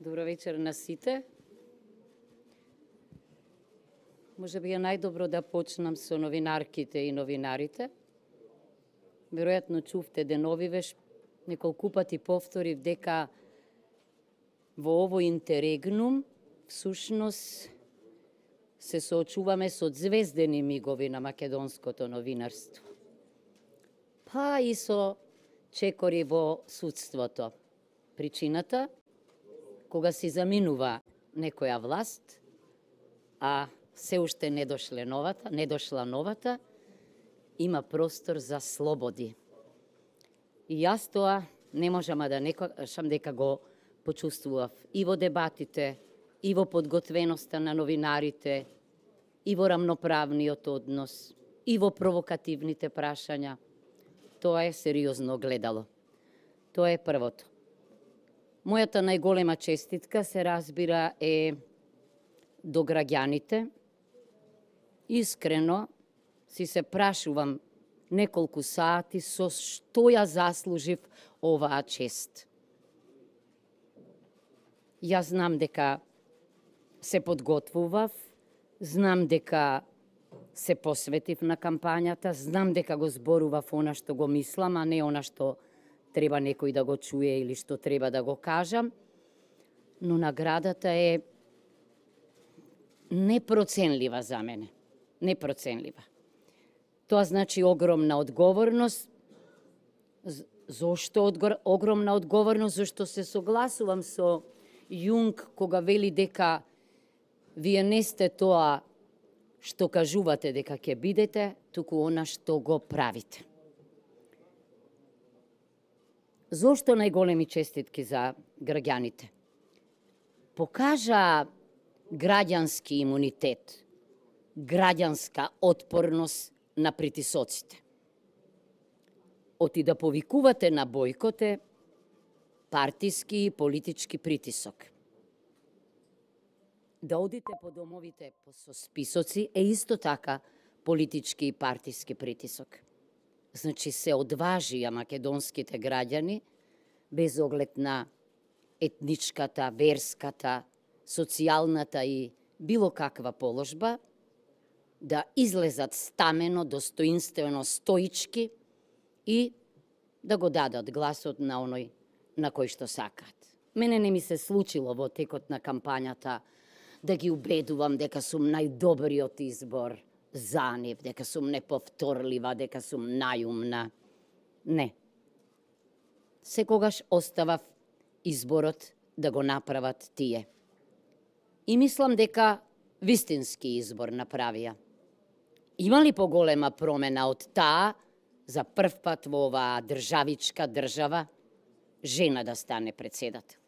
Добро вечер на сите. Може би е најдобро да почнам со новинарките и новинарите. Веројатно чувте деновивеш, неколку пати повторив дека во овој интеррегнум всушност се соочуваме со звездени мигови на македонското новинарство. Па и со чекори во судството. Причината, кога си заминува некоја власт, а се уште не дошла новата, има простор за слободи. И јас тоа не можам да не кажам дека го почувствував и во дебатите, и во подготвеноста на новинарите, и во рамноправниот однос, и во провокативните прашања. Тоа е сериозно гледало. Тоа е првото. Мојата најголема честитка, се разбира, е до граѓаните. Искрено си се прашувам неколку сати со што ја заслужив оваа чест. Јас знам дека се подготвував, знам дека се посветив на кампањата, знам дека го зборував она што го мислам, а не она што треба некој да го чуе или што треба да го кажам, но наградата е непроценлива за мене. Непроценлива. Тоа значи огромна одговорност. Зошто огромна одговорност? Зашто се согласувам со Јунг кога вели дека вие не сте тоа што кажувате дека ќе бидете, туку она што го правите. Зошто најголеми честитки за граѓаните? Покажа граѓански имунитет, граѓанска отпорност на притисоците. Оти да повикувате на бојкот е партиски и политички притисок. Да одите по домовите со списоци е исто така политички и партиски притисок. Значи се одважија македонските граѓани, без оглед на етничката, верската, социјалната и било каква положба, да излезат стамено, достоинствено, стоички и да го дадат гласот на оној на кој што сакаат. Мене не ми се случило во текот на кампањата да ги убедувам дека сум најдобриот избор за нив, дека сум неповторлива, дека сум најумна. Не. Секогаш оставав изборот да го направат тие. И мислам дека вистински избор направија. Има ли поголема промена од таа за прв пат во оваа државичка држава жена да стане председател?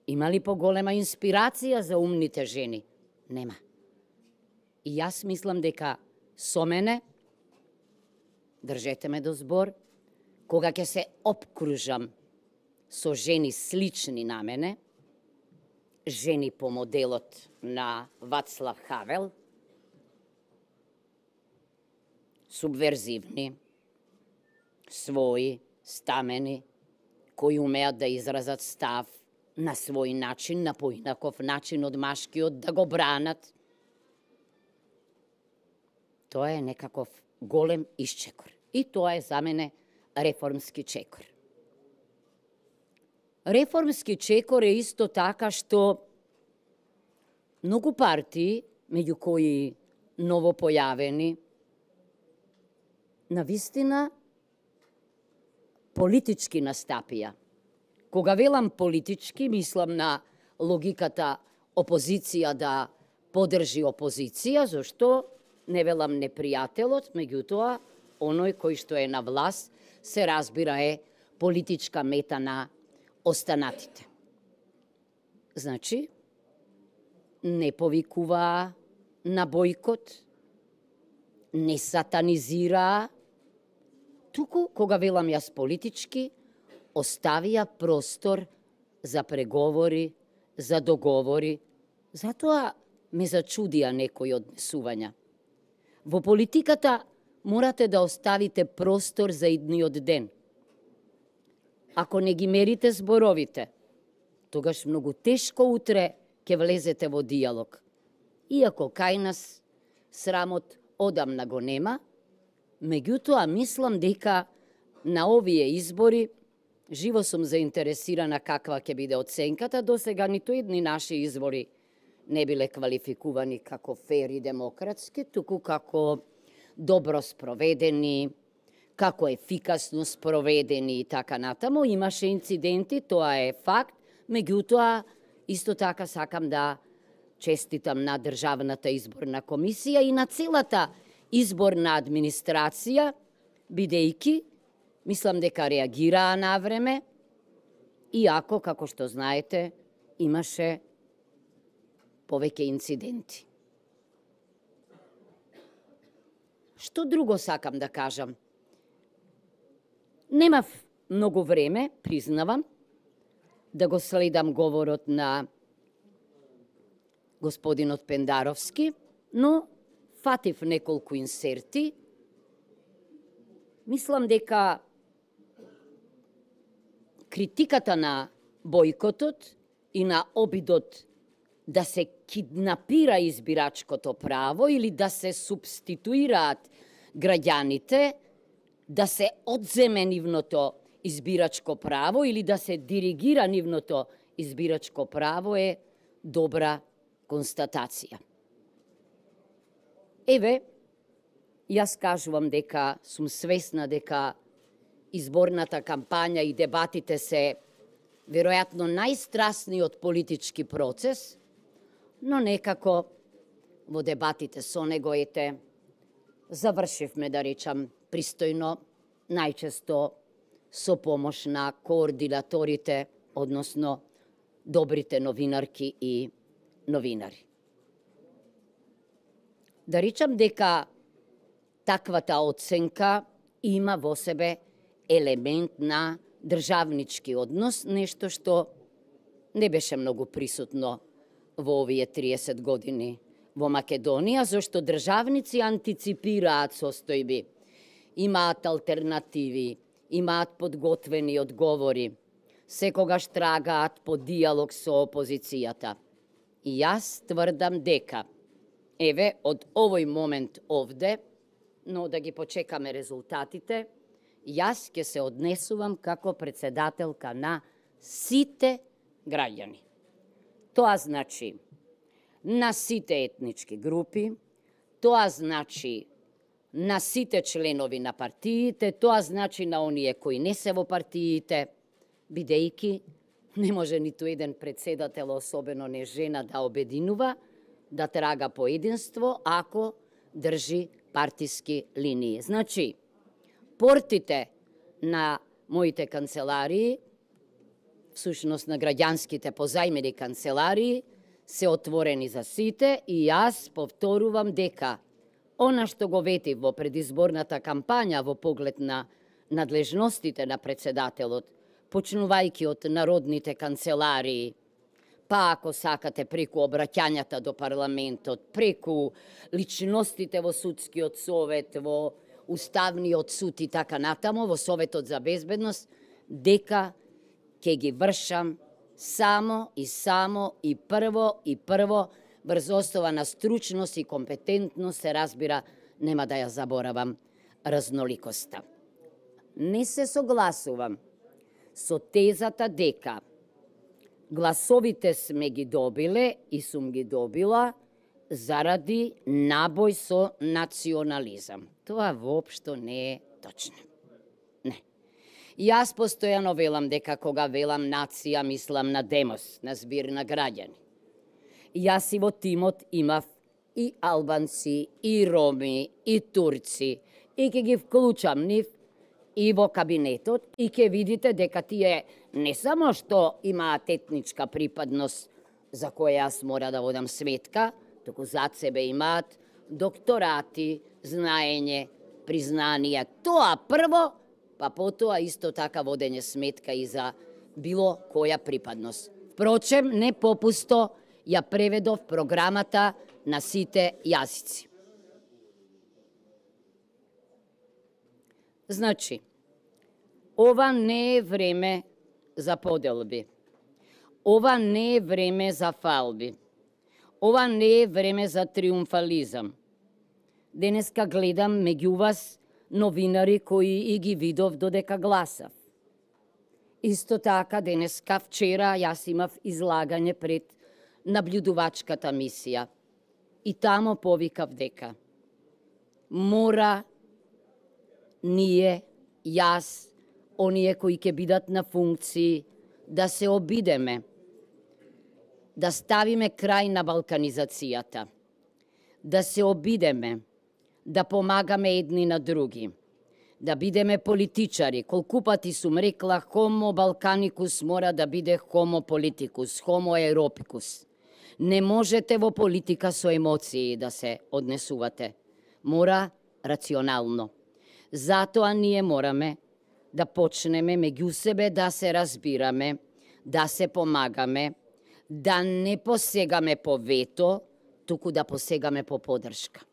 Има ли поголема инспирација за умните жени? Нема. И јас мислам дека со мене, држете ме до збор, кога ќе се опкружам со жени слични на мене, жени по моделот на Вацлав Хавел, субверзивни, своји, стамени, кои умеат да изразат став на свој начин, на поинаков начин од машкиот, да го бранат. Тоа е некаков голем исчекор. И тоа е за мене реформски чекор. Реформски чекор е исто така што многу партии, меѓу кои новопојавени, навистина политички настапија. Кога велам политички, мислам на логиката опозиција да подржи опозиција, зашто не велам непријателот, меѓутоа, оној кој што е на власт, се разбира е политичка мета на останатите. Значи, не повикуваа на бојкот, не сатанизираа, туку, кога велам јас политички, оставија простор за преговори, за договори. Затоа ме зачудија некои однесувања. Во политиката морате да оставите простор за идниот ден. Ако не ги мерите зборовите, тогаш многу тешко утре ќе влезете во диалог. Иако кај нас срамот одамна го нема, меѓутоа мислам дека на овие избори живо сум заинтересирана каква ќе биде оценката. До сега ниту едни наши избори не биле квалификувани како фер и демократски, туку како добро спроведени, како ефикасно спроведени и така натаму. Имаше инциденти, тоа е факт, меѓутоа исто така сакам да честитам на Државната изборна комисија и на целата изборна администрација, бидејќи мислам дека реагираа на време, иако, како што знаете, имаше повеќе инциденти. Што друго сакам да кажам? Немав многу време, признавам, да го следам говорот на господинот Пендаровски, но фатив неколку инсерти. Мислам дека критиката на бојкотот и на обидот да се киднапира избирачкото право или да се субституираат граѓаните, да се одземе нивното избирачко право или да се диригира нивното избирачко право е добра констатација. Еве, јас кажувам дека сум свесна дека изборната кампања и дебатите се веројатно најстрасниот политички процес, но некако во дебатите со него завршивме, да речам, пристојно, најчесто со помош на координаторите, односно добрите новинарки и новинари. Да речам дека таквата оценка има во себе елемент на државнички однос, нешто што не беше многу присутно во овие 30 години во Македонија, зашто државници антиципираат состојби, имаат алтернативи, имаат подготвени одговори, секогаш трагаат по диалог со опозицијата. И јас тврдам дека, еве, од овој момент овде, но да ги почекаме резултатите, јас ќе се однесувам како председателка на сите граѓани. Тоа значи на сите етнички групи, тоа значи на сите членови на партиите, тоа значи на оние кои не се во партиите, бидејќи не може ниту еден председател, особено не жена, да обединува, да трага по единство, ако држи партиски линии. Значи, портите на моите канцеларии, всушност на граѓанските позајмени канцеларии, се отворени за сите и јас повторувам дека она што го ветив во предизборната кампања во поглед на надлежностите на председателот, почнувајќи од народните канцеларии, па ако сакате преку обраќањата до парламентот, преку личностите во судскиот совет, во Уставниот суд и така натаму, во Советот за безбедност, дека ќе ги вршам само и прво врз основа на стручност и компетентност, се разбира, нема да ја заборавам разноликоста. Не се согласувам со тезата дека гласовите сме ги добиле и сум ги добила заради набој со национализам. Тоа воопшто не е точно. Не. Јас постојано велам дека кога велам нација, мислам на демос, на збир на граѓани. Јас и во тимот имав и албанци, и роми, и турци, и ќе ги вклучам нив и во кабинетот, и ќе видите дека тие не само што имаат етничка припадност, за која јас мора да водам сметка, туку зад себе имаат докторати, знаење, признание. Тоа прво, па потоа исто така водење сметка и за било која припадност. Впрочем, не попусто ја преведов програмата на сите јазици. Значи, ова не е време за поделби. Ова не е време за фалби. Ова не е време за триумфализам. Денеска гледам меѓу вас новинари кои и ги видов додека гласав. Исто така, денеска, вчера, јас имав излагање пред наблюдувачката мисија. И тамо повикав дека мора ние, јас, оние кои ќе бидат на функции, да се обидеме, да ставиме крај на балканизацијата, да се обидеме, да помагаме едни на други, да бидеме политичари. Колку пати сум рекла, хомо балканикус мора да биде хомо политикус, хомо еропикус. Не можете во политика со емоции да се однесувате. Мора рационално. Затоа ние мораме да почнеме меѓу себе да се разбираме, да се помагаме, да не посегаме по вето, туку да посегаме по поддршка.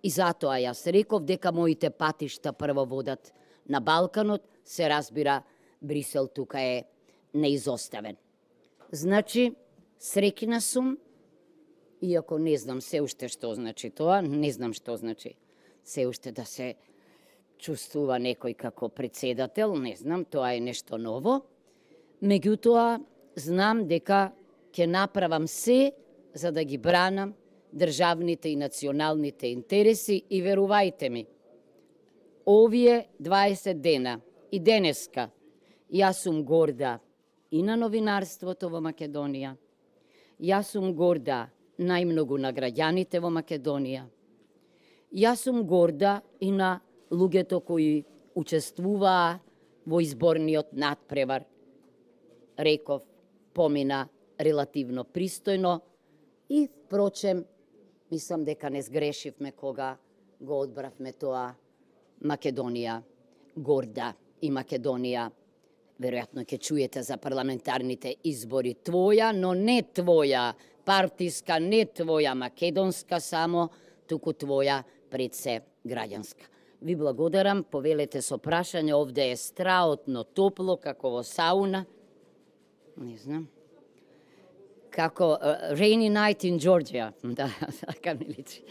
И затоа јас реков дека моите патишта прво водат на Балканот, се разбира, Брисел тука е неизоставен. Значи, среќна сум, иако не знам се уште што значи тоа, не знам што значи се уште да се чувствува некој како председател, не знам, тоа е нешто ново. Меѓутоа, знам дека ќе направам се за да ги бранам државните и националните интереси и верувајте ми, овие 20 дена и денеска, јас сум горда и на новинарството во Македонија, јас сум горда најмногу на граѓаните во Македонија, јас сум горда и на луѓето кои учествуваа во изборниот надпревар. Реков, помина релативно пристојно и, впрочем, мислам дека не сгрешивме кога го одбравме тоа Македонија горда и Македонија. Веројатно ќе чуете за парламентарните избори твоја, но не твоја партиска, не твоја македонска само, туку твоја пред се граѓанска. Ви благодарам, повелете со прашање, овде е страотно топло, како во сауна. Не знам. Како rainy night in Georgia. Да, така ми личи.